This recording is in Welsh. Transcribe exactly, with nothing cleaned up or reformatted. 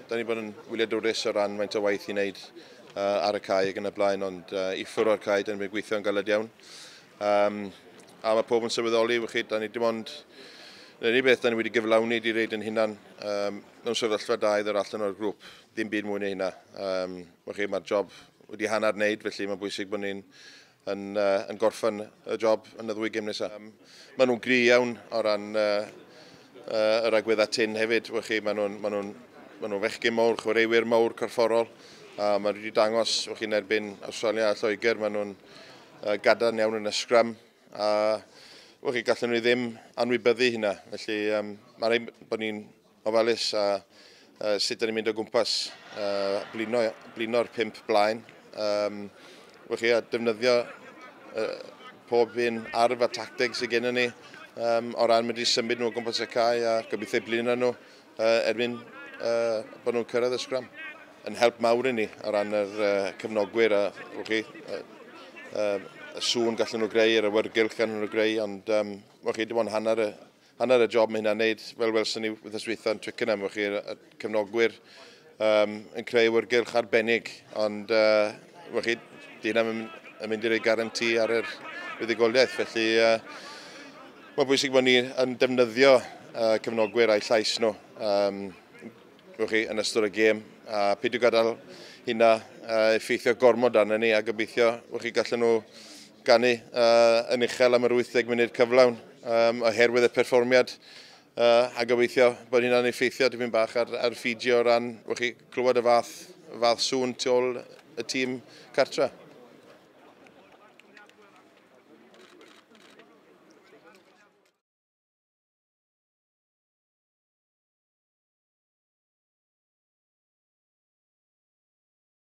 da ni bod yn wyliadwrus o ran faint o waith i wneud uh, ar y cae ac yn y blaen, ond uh, i ffwrdd o'r cae, da ni'n gweithio'n galed iawn. Um, a mae pob yn sylweddoli, chi, da ni dim ond, yr unig beth da ni wedi gyflawni di reid yn hunan, um, mewn sefyllfa da i ddod allan o'r grŵp, dim byd mwy na hynna. Um, chi, mae'r job wedi hanner wneud, felly mae'n bwysig bod ni'n yn, uh, yn gorffen y job yn y ddwy gêm nesaf. Um, maen nhw'n gry iawn o ran uh, uh, yr agweddau tyn hefyd. Chi, maen nhw'n ma nhw, ma nhw fechgyn mawr, chwaraewyr mawr corfforol. A maen nhw wedi dangos chi'n erbyn Australia a Lloegr, maen nhw'n uh, gadarn iawn yn y sgrym. A chi, gallen nhw ddim anwybyddu hynna. Felly um, mae'n rhaid bod ni'n ofalus a uh, sut da ni'n mynd o gwmpas uh, blino, blino'r pump blaen. Um, chi, a defnyddio uh, pob un arf a tacteg sydd gennym ni um, o ran mynd i symud nhw o gwmpas y cae a gobeithio blino nhw uh, erbyn uh, bod nhw'n cyrraedd y sgrym. Yn help mawr i ni o ran yr uh, cefnogwyr a chi, uh, uh, y sŵn gallen nhw greu, yr awyrgylch gallen nhw greu, ond um, chi, dim ond hanner y, hanner y job mae hynna'n neud, fel welson ni wythnos dwytha yn Twickenham, chi, y cefnogwyr um, yn creu awyrgylch arbennig, ond uh, chi, di hynna yn mynd i roi garanti ar yr fuddugoliaeth, felly uh, mae'n bwysig bod ni yn defnyddio uh, cefnogwyr a'i llais nhw um, chi, yn ystod y gêm, a peidio gadael hynna uh, effeithio gormod arno ni, a gobeithio chi, gallen nhw ganu uh, yn uchel am yr wyth deg munud cyflawn um, oherwydd y perfformiad, uh, a gobeithio bod hynna'n effeithio dipyn bach ar, ar Fiji o ran chi, clywed y fath, fath sŵn tu ôl y tîm cartra.